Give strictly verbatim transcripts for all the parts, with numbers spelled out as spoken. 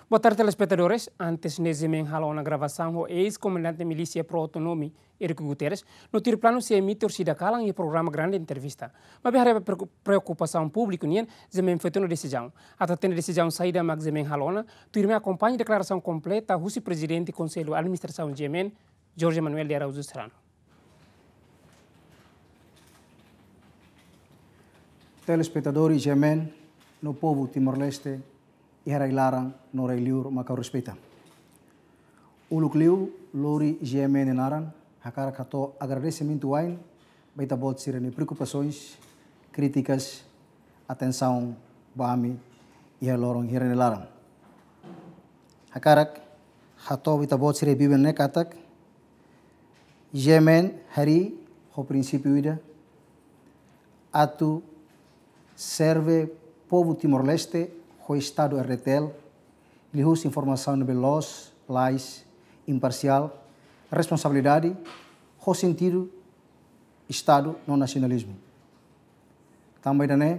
Boa tarde, telespetadores. Antes ne'e GMN halo ona gravasaun ho eis-komandante milísia pró-autonomia, Eurico Guterres, no tuir planu sei emite orsida kalan iha programa Grande Entrevista. Maibé haree ba preoku-, preokupasaun públiku nian, GMN foti ona desizaun. Atu hatene desizaun saida mak GMN halo ona, tuirmai akompaña deklarasaun kompleta husi Prezidente Konsellu Administrasaun GMN, Jorge Manuel de Araújo Serrano. Telespetadór GMN no povu Timor-Leste iha rai-laran no rai-liur mak ha'u respeita. Uluk liu, lori GMN nia naran, hakarak hato'o agradesimentu wa'in ba ita-boot sira-nia preokupasoens, krítikas, atensaun ba ami iha loron hirak nia laran. Hakarak hato'o ba ita-boot sira biben ne'e katak, GMN harii ho prinsípiu ida, atu serve povu Timor-Leste ho Estadu RDTL, liuhusi informasaun ne'ebé loos, lalais, imparsiál, responsabilidade, ho sentidu Estadu no nasionalizmu. Tanba ida-ne'e,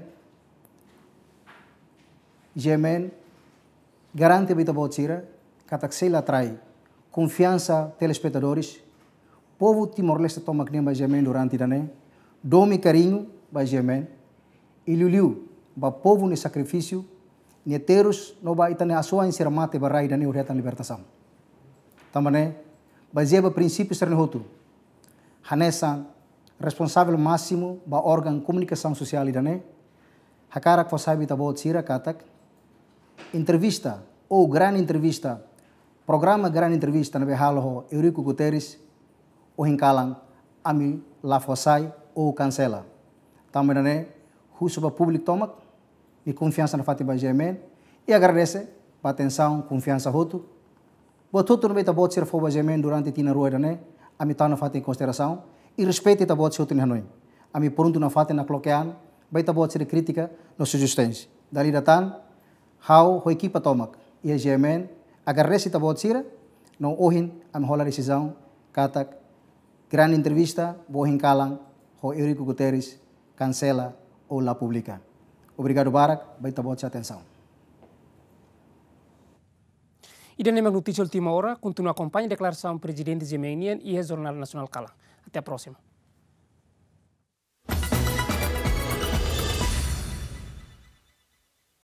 GMN garante ba ita-boot sira katak sei la trai konfiansa telespetadores, povu Timor-Leste tomak nian ba GMN durante ida-ne'e, domin kariñu ba GMN, i liuliu ba povu nia sakrifísiu, nia terus no ba ita-nia asuwa'in sira mate ba rai ida-ne'e hodi hetan libertasaun. Tanba ne'e, bazeia ba prinsípiu sira-ne'e hotu, hanesan responsavel másimu ba órgaun komunikasaun sosiál ida-ne'e, hakarak fó sai ba ita-boot sira katak entrevista ou Grande Entrevista, programa Grande Entrevista ne'ebé halo ho Eurico Guterres, ohin kalan ami la fó sai ou kansela. Tanba ida-ne'e, husu ba públiku tomak nia konfiansa nafatin ba GMN, i agradese ba atensaun, konfiansa hotu. Buat hotu ne'ebé ita-boot sira fó ba GMN durante tinan rua ida-ne'e, ami tau nafatin konsiderasaun, i respeita ita-boot sira hotu nia hanoin. Ami prontu nafatin nakloke an ba ita-boot sira krítika no sujestaun. Dala ida tan, ha'u ho ekipa tomak iha GMN agradese ita-boot sira, no ohin ami hola desizaun katak Grande Entrevista ba ohin kalan ho Eurico Guterres kansela ou la publika. Obrigadu barak ba ita-boot sira atensaun. Ida-ne'e mak notísia última hora, kontinua akompaña deklarasaun Prezidente GMN nian iha Jornál Nasionál kalan. Até a próxima.